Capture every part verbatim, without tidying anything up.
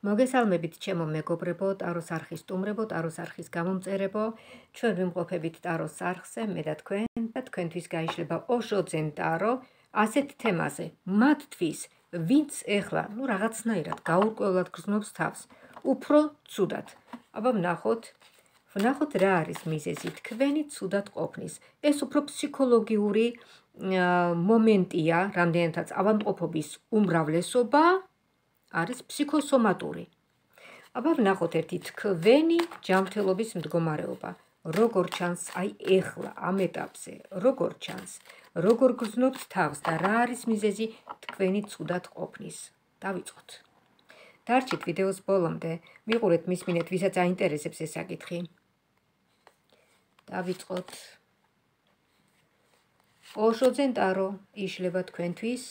მოგესალმებით ჩემო მეგობრებო, ტაროს არხის სტუმრებო, ტაროს არხის გამომწერებო. ჩვენ ვიმყოფებით ტაროს არხზე, მე და თქვენ და თქვენთვის გაიშლება ოშოძენ ტარო ასეთ თემაზე. მათთვის, ვინც ეხლა, ну რაღაცნაირად გაურკვევლად გრძნობს თავს, უფრო ცუდად. აბა ვნახოთ, ვნახოთ რა არის მიზეზი თქვენი ცუდად ყოფნის. ეს უფრო ფსიქოლოგიური მომენტია, რამდენადაც ავადმყოფობის უმრავლესობა არის ფსიქოსომატური. აბა ვნახოთ ერთი თქვენი ჯანმრთელობის მდგომარეობა. როგორ ჩანს აი ეხლა ამ ეტაპზე, როგორ ჩანს, როგორ გრძნობთ თავს და რა არის მიზეზი თქვენი ცუდად ყოფნის. დავიწყოთ. დარჩით ვიდეოს ბოლომდე, მიყურეთ, მისმინეთ, ვისაც აინტერესებს ეს საკითხი. დავიწყოთ. ოშოძენ ტარო იშლება თქვენთვის,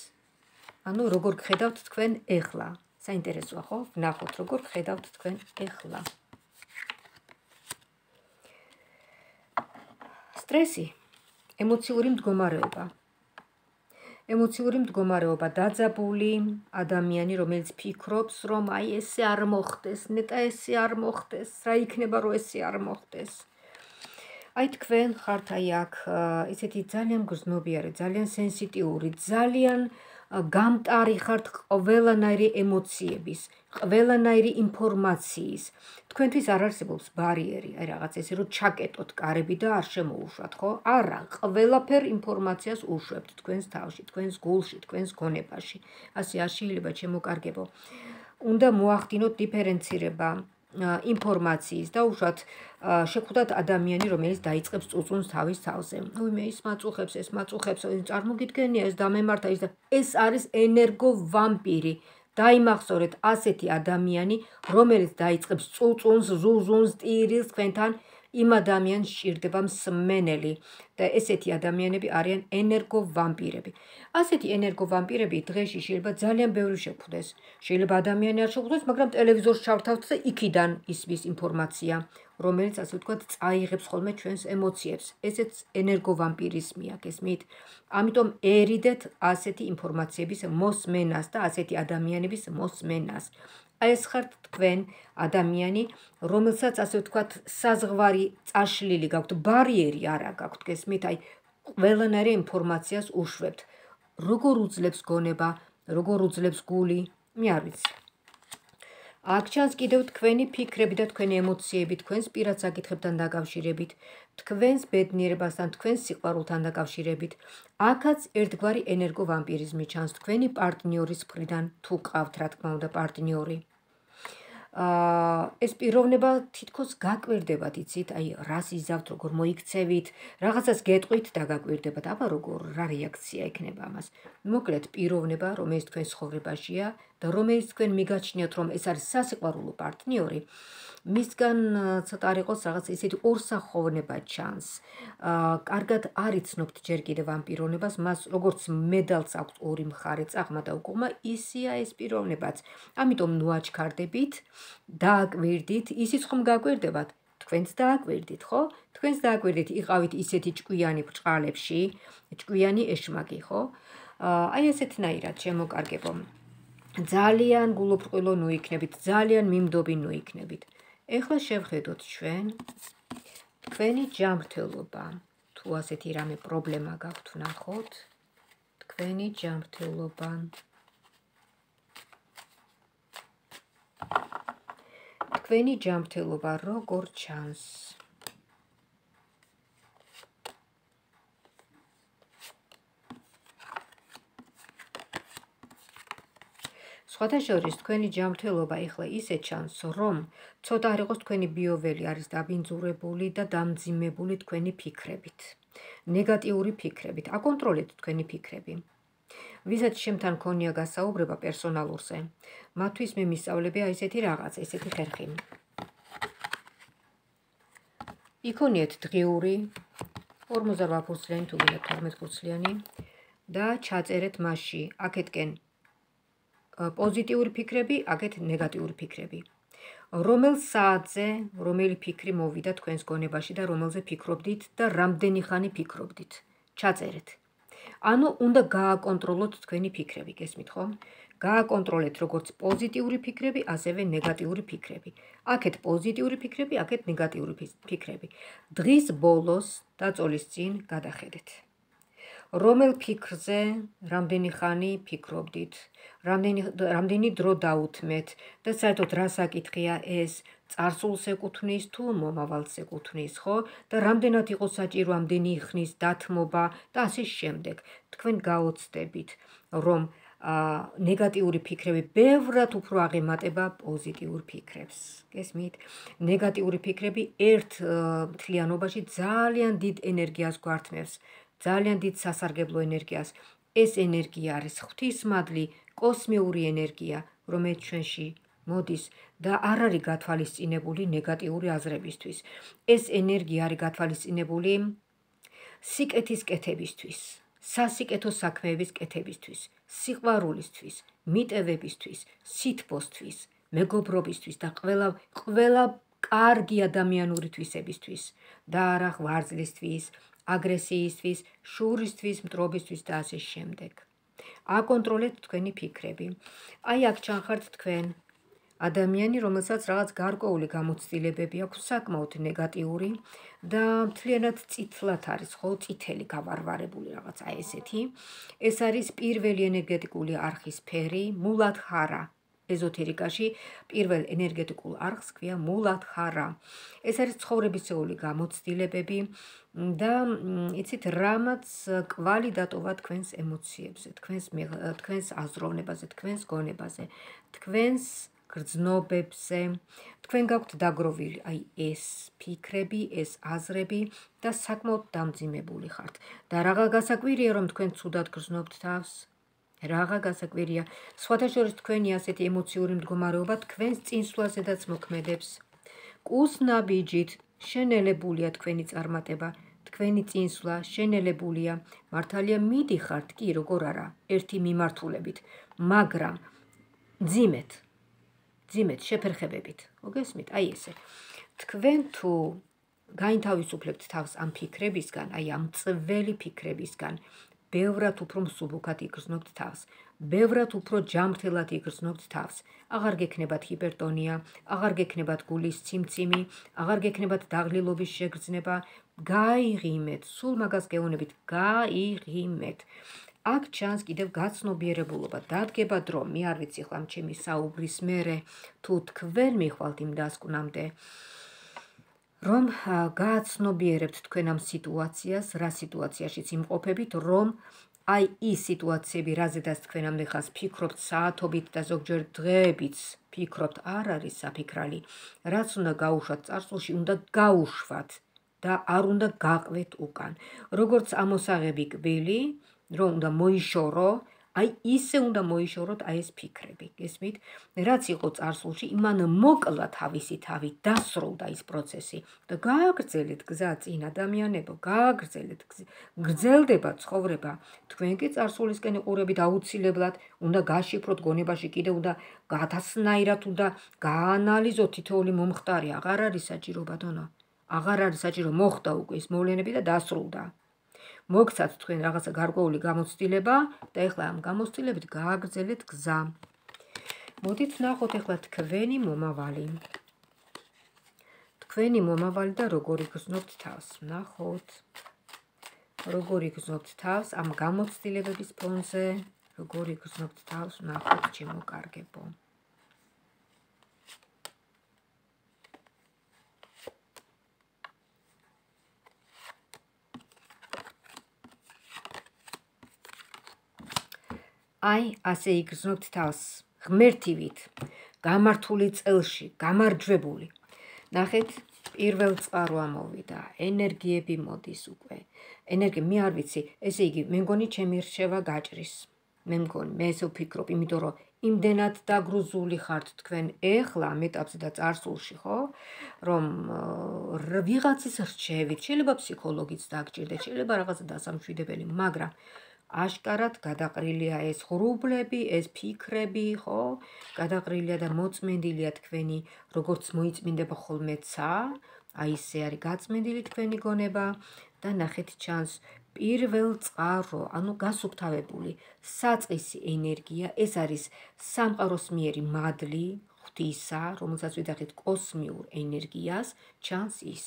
ანუ როგორ გხედავთ თქვენ ეხლა. საინტერესოა, ხო? ვნახოთ, როგორ გხედავთ თქვენ ეხლა. სტრესი, ემოციური მდგომარეობა. ემოციური მდგომარეობა, დაძაბული ადამიანი, რომელიც ფიქრობს, რომ აი ესე არ მოხდეს, ნეტა ესე არ მოხდეს, რა იქნება, რომ ესე არ მოხდეს. აი თქვენ ხართ აი აქ ესეთი ძალიან გრძნობიარე, ძალიან სენსიტიური, ძალიან გამტარი ხართ ყველანაირი ემოციების, ყველანაირი ინფორმაციის. თქვენთვის არ არსებობს ბარიერი, აი რაღაც ესე რომ ჩაკეტოთ კარები და არ შემოუშვათ, ხო? არა, ყველაფერ ინფორმაციას უშვებთ თქვენს თავში, თქვენს გულში, თქვენს გონებაში. ასე არ შეიძლება შემოკარგებო. უნდა მოახდინოთ დიფერენცირება ინფორმაციის და უშუალოდ შეხვდათ ადამიანი, რომელიც დაიწყებს წუწუნს თავის თავზე. უიმე ის მაწუხებს, ეს მაწუხებს, წარმოგიდგენია ეს დამემართა ის და ეს არის ენერგო ვამპირი. დაიმახსოვრეთ ასეთი ადამიანი, რომელიც დაიწყებს წუწუნს, ზუზუნს, ტირილს თქვენთან, იმ ადამიანს სჭირდება მსმენელი და ესეთი ადამიანები არიან ენერგო ვამპირები. ასეთი ენერგო ვამპირები დღეში შეიძლება ძალიან ბევრი შეხვდეს. შეიძლება ადამიანი არ შეხვდეს, მაგრამ ტელევიზორს ჩავთავთ და იქიდან ისმის ინფორმაცია, რომელიც ასე ვთქვათ, წაიღებს ხოლმე ჩვენს ემოციებს. ესეც ენერგო ვამპირიზმია, გესმით? ამიტომ ერიდეთ ასეთი ინფორმაციების მოსმენას და ასეთი ადამიანების მოსმენას. აი ეს ხართ თქვენ ადამიანი, რომელსაც ასე ვთქვათ, საზღვარი წაშლილი გაქვთ, ბარიერი არა გაქვთ, გესმით? აი ყველანაირი ინფორმაციას უშვებთ. როგორ უძლებს გონება, როგორ უძლებს გული, მე არ ვიცი. აქ ჩანს კიდევ თქვენი ფიქრები და თქვენი ემოციები თქვენს პირად საკითხებთან დაკავშირებით, თქვენს ბედნიერებასთან, თქვენს სიყვარულთან დაკავშირებით. აქაც ერთგვარი ენერგო ვამპირიზმი ჩანს თქვენი პარტნიორის მხრიდან, თუ ყავთ რა თქმა უნდა პარტნიორი. ეს პიროვნება თითქოს გაკვირდებათ, იცით, აი რას იზავთ, როგორ მოიქცევით, რაღაცას გეტყვით და გაკვირდებათ. აბა როგორ, რა რეაქცია ექნება ამას. მოკლედ პიროვნება, რომელიც თქვენ ცხოვრებაშია და რომელიც თქვენ მიგაჩნიათ, რომ ეს არის სასიყვარულო პარტნიორი, მისგან ცოტა არ იყოს რაღაც ესეთი ორსახოვნება ჩანს. კარგად არ იცნობთ ჯერ კიდევ ამ პიროვნებას, მას როგორც მედალს აქვს ორი მხარე, წაღმა და უკუღმა, ისია ეს პიროვნებაც. ამიტომ ნუ აჩქარდებით, დააკვირდით, ისიც ხომ გაკვირდებათ, თქვენც დააკვირდით, ხო? თქვენც დააკვირდით, იყავით ისეთი ჭკვიანი ბრჭყალებში, ჭკვიანი ეშმაკი, ხო? აი ესეთნაირად შემოკარგებო. ძალიან გულუბრყვილო ნუ იქნებით, ძალიან მიმდობი ნუ იქნებით. ეხლა შევხედოთ ჩვენ თქვენი ჯანმრთელობა. თუ ასეთი რამე პრობლემა გაქვთ, ვნახოთ თქვენი ჯანმრთელობა. თქვენი ჯანმრთელობა როგორ ჩანს? სხვათა შორის თქვენი ჯანმრთელობა ეხლა ისე ჩანს, რომ ცოტა არ იყოს თქვენი ბიოველი არის დაბინძურებული და დამძიმებული თქვენი ფიქრებით, ნეგატიური ფიქრებით. აკონტროლეთ თქვენი ფიქრები. ვისაც შემთან ქონია გასაუბრება პერსონალურზე, მათთვის მე მისწავლები აი ესეთი რაღაც, ესეთი ხერხი. იქონიეთ დღიური ორმოცდაოთხ ფურცლიანი თუ გინდა თორმეტ ფურცლიანი და ჩაწერეთ მასში აქეთკენ პოზიტიური ფიქრები, აქეთ ნეგატიური ფიქრები. რომელ საათზე, რომელი ფიქრი მოვიდა თქვენს გონებაში და რომელზე ფიქრობდით და რამდენი ხანი ფიქრობდით. ჩაწერეთ. ანუ უნდა გააკონტროლოთ თქვენი ფიქრები, გესმით ხო? გააკონტროლეთ როგორც პოზიტიური ფიქრები, ასევე ნეგატიური ფიქრები. აქეთ პოზიტიური ფიქრები, აქეთ ნეგატიური ფიქრები. დღის ბოლოს დაწოლის წინ გადახედეთ. რომელ ფიქრზე რამდენი ხანი ფიქრობდით, რამდენი რამდენი დრო დაუთმეთ და საერთოდ რა საკითხია ეს, წარსულს ეკუთვნის თუ მომავალს ეკუთვნის, ხო? და რამდენად იყო საჭირო ამდენი ხნის დათმობა და ასე შემდეგ. თქვენ გაოცდებით, რომ ნეგატიური ფიქრები ბევრად უფრო აღემატება პოზიტიურ ფიქრებს. გესმით? ნეგატიური ფიქრები ერთ მთლიანობაში ძალიან დიდ ენერგიას გვართმევს, ძალიან დიდ სასარგებლო ენერგიას. ეს ენერგია არის ღვთისმადლი, კოსმიური ენერგია, რომელიც ჩვენში მოდის და არ არის გათვალისწინებული ნეგატიური აზრებისთვის. ეს ენერგია არის გათვალისწინებული სიკეთის კეთებისთვის, სასიკეთო საქმეების კეთებისთვის, სიყვარულისთვის, მიტევებისთვის, სითბოსთვის, მეგობრობისთვის და ყველა ყველა კარგი ადამიანური თვისებისთვის და არა ღვარძლისთვის, აგრესიისთვის, შურისთვის, მტრობისთვის და ასე შემდეგ. აკონტროლეთ თქვენი ფიქრები. აი აქ ჩანხართ თქვენ ადამიანი, რომელსაც რაღაც გარკვეული გამოცდილებები აქვს, საკმაოდ ნეგატიური და მთლიანად წითლად არის, ხო, წითელი გავარვარებული რაღაც აი ესეთი. ეს არის პირველი ენერგეტიკული არხის ფერი, მულადჰარა. ეზოთერიკაში პირველ ენერგეტიკულ არხს ქვია მულადჰარა. ეს არის ცხოვრებისეული გამოცდილებები და იცით, რამაც კვალი დატოვა თქვენს ემოციებზე, თქვენს თქვენს აზროვნებაზე, თქვენს გონებაზე, თქვენს გრძნობებზე. თქვენ გაქვთ დაგროვილი აი ეს ფიქრები, ეს აზრები და საკმაოდ დამძიმებული ხართ. და რაღა გასაკვირია, რომ თქვენ ცუდად გრძნობთ თავს? რაღა გასაკვირია. სხვათა შორის თქვენი ასეთი ემოციური მდგომარეობა თქვენს წინსვლაზედაც მოქმედებს. კუსნაბიჯით შენელებულია თქვენი წარმატება, თქვენი წინსვლა შენელებულია. მართალია მიდიხართ კი, როგორ არა, ერთი მიმართულებით, მაგრამ ძიმეთ, ძიმეთ შეფერხებებით. მოგესმით? აი ესე. თქვენ თუ გაინთავისუფლებთ თავს ამ ფიქრებისგან, აი ამ წველი ფიქრებისგან, ბევრად უფრო მსუბუქად იგრძნობთ თავს, ბევრად უფრო ჯანმრთელად იგრძნობთ თავს. აღარ გექნებათ ჰიპერტონია, აღარ გექნებათ გულის ციმციმი, აღარ გექნებათ დაღლილობის შეგრძნება. გაიღიმეთ, სულ მაგას გეუბნებით, გაიღიმეთ. აქ ჩანს კიდევ გაცნობიერებულობა, დადგება დრო, მე არ ვიცი ხლა ჩემი საუბრის მერე, თუ თქვენ მიხვალთ იმ დასკვნამდე, რომ გააცნობიერებთ თქვენ ამ სიტუაციას, რა სიტუაციაშიც იმყოფებით, რომ აი ის სიტუაციები, რაზედაც თქვენ ამდენხანს ფიქრობთ საათობით და ზოგჯერ დღეებიც ფიქრობთ, არ არის საფიქრალი. რაც უნდა გაუშვათ წარსულში, უნდა გაუშვათ და არ უნდა გაყვეთ უკან. როგორც ამოსაღები კბილი, რომ უნდა მოიშორო, აი ისე უნდა მოიშოროთ აი ეს ფიქრები. გესმით? რაც იყო წარსულში, იმან მოკლა თავისი თავი, დასრულდა ის პროცესი და გააგრძელეთ გზა წინ ადამიანებო, გააგრძელეთ, გრძელდება ცხოვრება. თქვენ კი წარსულისკენ იყურებით აუცილებლად, უნდა გაშიფროთ გონებაში, კიდე უნდა გადასნაირად უნდა გაანალიზოთ თითოეული მომხდარი, აღარ არის საჭირო ბატონო. აღარ არის საჭირო, მოხდა უკვე ის მოვლენები და დასრულდა. მოგცათ თქვენ რაღაცა გარკვეული გამოცდილება და ეხლა ამ გამოცდილებით გააგრძელეთ გზა. მოდით ნახოთ ეხლა თქვენი მომავალი. თქვენი მომავალი და როგორ იგრძნობთ თავს. ნახოთ. როგორ იგრძნობთ თავს ამ გამოცდილებების ფონზე, როგორ იგრძნობთ თავს, ნახოთ ჩემო კარგებო. აი, ასე იგრძნობთ თავს, ღმერთივით, გამართული წელში, გამარჯვებული. ნახეთ, პირველ წყარო ამოვიდა, ენერგიები მოდის უკვე. ენერგია, მე არ ვიცი, ესე იგი, მე მგონი ჩემი რჩევა გაჭრის. მე მგონი, მე ესე ვფიქრობ, იმიტომ რომ იმდენად დაგრუზული ხართ თქვენ ეხლა ამ ეტაპზე და წარსულში, ხო? რომ ვიღაცის რჩევით, შეიძლება ფსიქოლოგიც დაგჭირდეთ, შეიძლება რაღაცა დასამშვიდებელი, მაგრამ აშკარად გადაყრილია ეს ღრუბლები, ეს ფიქრები, ხო? გადაყრილია და მოწმენდილია თქვენი, როგორც მოიწმინდება ხოლმე ცა, აი ესე არის გაწმენდილი თქვენი გონება და ნახეთ ჩანს პირველ წყარო, ანუ გასუფთავებული საწყისი ენერგია, ეს არის სამყაროს მიერი მადლი ღვთისა, რომელსაც ვიძახით კოსმიურ ენერგიას, ჩანს ის.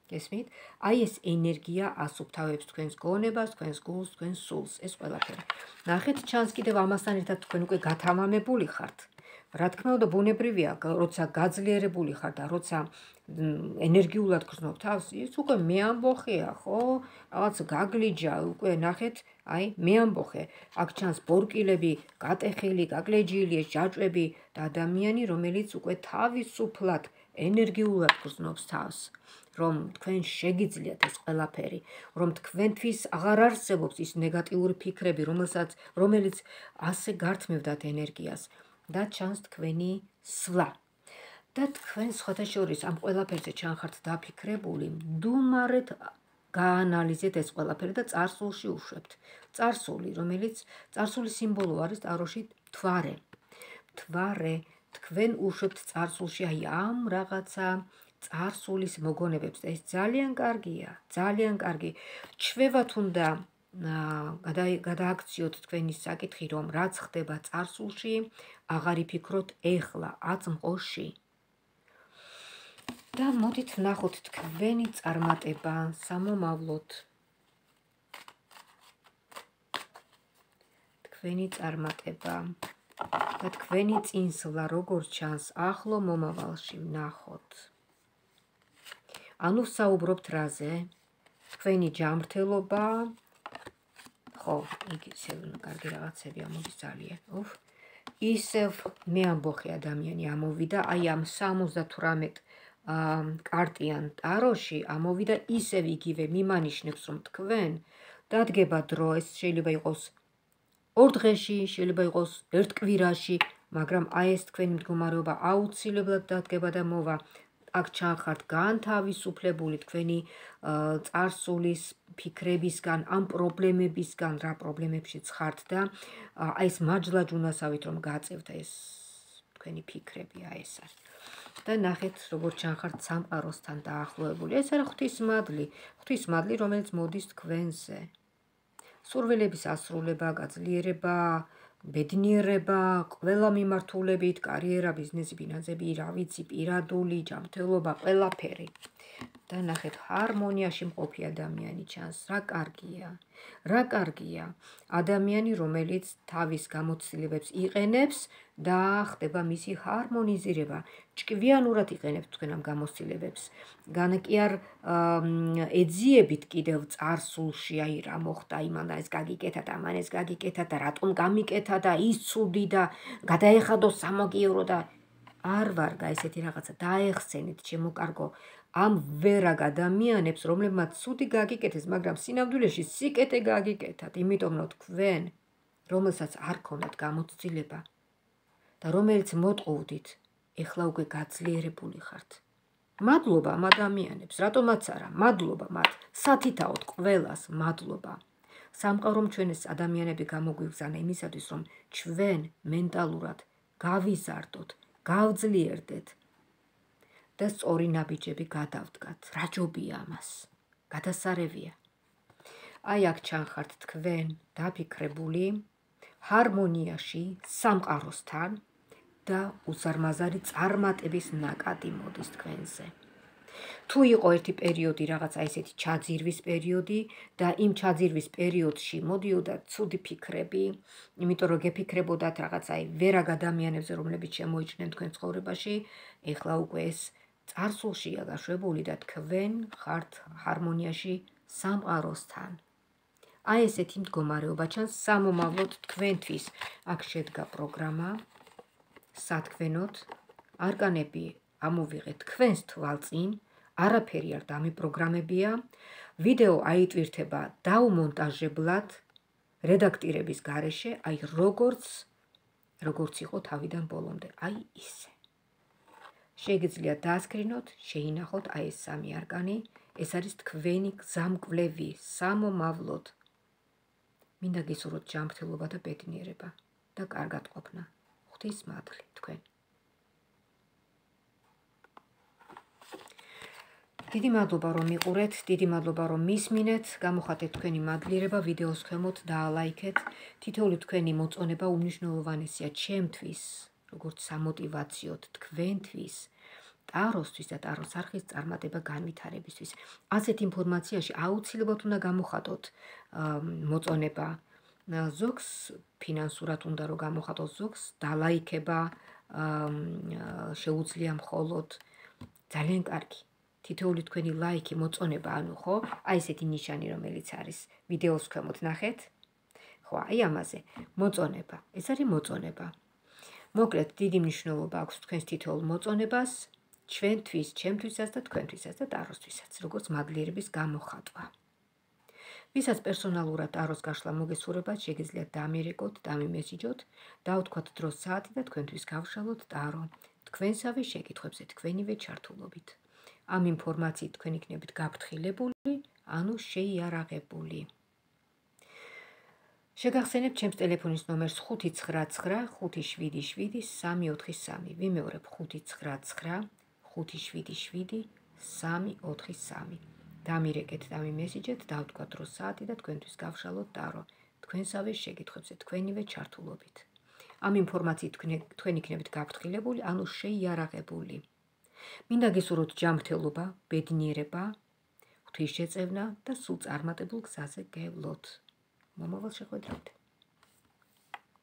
გესმით? აი ეს ენერგია ასუფთავებს თქვენს გონებას, თქვენს გულს, თქვენს სულს, ეს ყველაფერი. ნახეთ, ჩანს კიდევ ამასთან ერთად თქვენ უკვე გათამამებული ხართ. რა თქმა უნდა, ბუნებრივია, როცა გაძლიერებული ხარ და როცა ენერგიულად გრძნობ თავს, ის უკვე მე ამბოხეა, ხო? რაღაც გაგლიჯა, უკვე ნახეთ, აი, მე ამბოხე. აქ ჩანს ბორკილები, გატეხილი, გაგლეჯილი, ჯაჭვები და ადამიანი, რომელიც უკვე თავისუფლად ენერგიულად გრძნობს თავს. რომ თქვენ შეგიძლიათ ეს ყველაფერი, რომ თქვენთვის აღარ არსებობს ის ნეგატიური ფიქრები, რომელსაც რომელიც ასე გართმევდათ ენერგიას და ჩანს თქვენი სვლა. და თქვენ სხვათა შორის ამ ყველაფერზე ჩანხართ დაფიქრებული, მდუმარეთ გაანალიზეთ ეს ყველაფერი და წარსულში უშვებთ. წარსული, რომელიც წარსული სიმბოლო არის ტაროში მთვარე. მთვარე, თქვენ უშვებთ წარსულში აი ამ რაღაცა წარსულის მოგონებებს და ეს ძალიან კარგია, ძალიან კარგი. ჩვევათ უნდა გადააქციოთ თქვენი საკითხი, რომ რაც ხდება წარსულში, აღარ იფიქროთ ეხლა, აწმყოში. და მოდით ვნახოთ თქვენი წარმატება სამომავლოდ. თქვენი წარმატება და თქვენი წინსვლა როგორ ჩანს ახლო მომავალში, ვნახოთ. ანუ საუბრობთ რაზე? თქვენი ჯანმრთელობა, ხო, იგი ისევ კარგი რაღაცები ამოდის ძალიან. უფ, ისევ მე ამბოხე ადამიანი ამოვიდა, აი ამ სამოცდათვრამეტ კარტიან ტაროში ამოვიდა ისევ იგივე მიმანიშნებს, რომ თქვენ დადგება დრო, ეს შეიძლება იყოს ორ დღეში, შეიძლება იყოს ერთ კვირაში, მაგრამ აი ეს თქვენი მდგომარეობა აუცილებლად დადგება და მოვა. აქ ჩანხართ განთავისუფლებული თქვენი წარსულის ფიქრებისგან, ამ პრობლემებისგან, რა პრობლემებშიც ხართ და აი ეს მაჯლაჯუნასავით რომ გაწევთ ეს თქვენი ფიქრები, აი ეს არის. და ნახეთ, როგორ ჩანხართ სამყაროსთან დაახლოებული. ეს არის ღვთისმადლი, ღვთისმადლი, რომელიც მოდის თქვენზე. სურვილების ასრულება, გაძლიერება, ბედნიერება, ყველა მიმართულებით, კარიერა, ბიზნესი, ფინანსები, რა ვიცი, პირადული, ჯანმრთელობა, ყველაფერი. და ნახეთ, ჰარმონიაში მყოფი ადამიანი ჩანს, რა კარგია. რა კარგია. ადამიანი, რომელიც თავის გამოცდილებებს იყენებს და ხდება მისი ჰარმონიზირება. ჭკვიანურად იყენებთ თქვენ ამ გამოცდილებებს. გან კი არ ეძიებით კიდევ წარსულში, აი რა მოხდა, იმან და ეს გაგიკეთა და ამან ეს გაგიკეთა და რატომ გამიკეთა და ის ცუდი და გადაეხადო სამოგიერო და არ ვარგა ესეთი რაღაცა დაეხსენით, ჩემო კარგო. ამ ვერაგ ადამიანებს, რომლებმაც ცუდი გაგიკეთეს, მაგრამ სინამდვილეში სიკეთე გაგიკეთათ, იმიტომ რომ თქვენ, რომელსაც არ ქონდათ გამოცდილება და რომელიც მოტყუვდით, ეხლა უკვე გაძლიერებული ხართ. მადლობა ამ ადამიანებს, რატომაც არა, მადლობა მათ, სათითაოდ ყველას მადლობა. სამყარომ ჩვენ ეს ადამიანები გამოგვიგზავნა იმისათვის, რომ ჩვენ მენტალურად გავიზარდოთ, გავძლიერდეთ და სწორი ნაბიჯები გადავდგათ. რა ჯობია ამას? გადასარევია. აი აქ ჩანხართ თქვენ დაფიქრებული ჰარმონიაში სამყაროსთან და უზარმაზარი წარმატების ნაკადი მოდის თქვენზე. თუ იყო ერთი პერიოდი, რაღაცა ესეთი ჩაძირვის პერიოდი და იმ ჩაძირვის პერიოდში მოდიოდა ცუდი ფიქრები, იმიტომ რომ გეფიქრებოდათ რაღაცა ვერაგ ადამიანებზე, რომლებიც შემოიჭნენ თქვენ ცხოვრებაში, ეხლა უკვე ეს წარსულშია გაშვებული და თქვენ ხართ ჰარმონიაში სამყაროსთან. აი ესეთი მდგომარეობა ჩანს სამომავლოდ თქვენთვის. აქ შედგა პროგრამა, სათქმენოთ, არკანები ამოვიღეთ თქვენს თვალწინ, არაფერი არ დამიპროგრამებია, ვიდეო აიტვირთება დაუმონტაჟებლად, რედაქტირების გარეშე, აი როგორც, როგორც იყო თავიდან ბოლომდე, აი ისე. შეგიძლიათ დაასკრინოთ, შეინახოთ აი ეს სამი არკანი, ეს არის თქვენი გზამკვლევი სამომავლოდ. მინდა გისურვოთ ჯანმრთელობა და ბედნიერება და კარგად ყოფნა. ღვთისმადლი თქვენ. დიდი მადლობა რომ მიყურეთ, დიდი მადლობა რომ მისმინეთ, გამოხატეთ თქვენი მადლიერება ვიდეოს ქვემოთ და ლაიქეთ. თითოეული თქვენი მოწონება უმნიშვნელოვანესია ჩემთვის, როგორც სამოტივაციოდ თქვენთვის, ტაროსთვის და ტაროს არხის წარმატება განვითარებისთვის. ასეთ ინფორმაციაში აუცილებლად უნდა გამოხატოთ მოწონება. ზოგს ფინანსურად უნდა რომ გამოხატოთ, ზოგს დალაიქება შეუძლია მხოლოდ. ძალიან კარგი. თითოეული თქვენი ლაიქი, მოწონება, ანუ ხო, აი ესეთი ნიშანი, რომელიც არის ვიდეოს ქვემოთ ნახეთ. ხო, აი ამაზე. მოწონება. ეს არის მოწონება. მოკლედ, დიდი მნიშვნელობა აქვს თქვენს თითოეულ მოწონებას, ჩვენთვის, ჩემთვისაც და თქვენთვისაც და ტაროსთვისაც, როგორც მადლიერების გამოხატვა. ვისაც პერსონალურად ტაროს გაშლა მოგესურვებათ, შეგიძლიათ დამირეკოთ, დამიმესიჯოთ, დავთქვათ დროს საათი და თქვენთვის გავშალოთ ტარო. თქვენსავე შეკითხვებზე თქვენივე ჩართულობით. ამ ინფორმაციით თქვენ იქნებით გაფრთხილებული, ანუ შეიარაღებული. შეგახსენებთ ჩემს ტელეფონის ნომერს ხუთი ცხრა ცხრა ხუთი შვიდი შვიდი სამი ოთხი სამი. ვიმეორებ ხუთი ცხრა ცხრა ხუთი შვიდი შვიდი სამი ოთხი სამი. დამირეკეთ, დამიმესიჯეთ, დავთქვათ დროს საათი და თქვენთვის გავშალოთ ტარო. თქვენსავე შეკითხვებზე თქვენივე ჩართულობით. ამ ინფორმაციით თქვენ იქნებით გაფრთხილებული, ანუ შეიარაღებული. მინდა გისურვოთ ჯანმრთელობა, ბედნიერება, ღვთისშეწევნა და სულ წარმატებულ გზაზე გევლოთ. მომავალ შეხვედრამდე.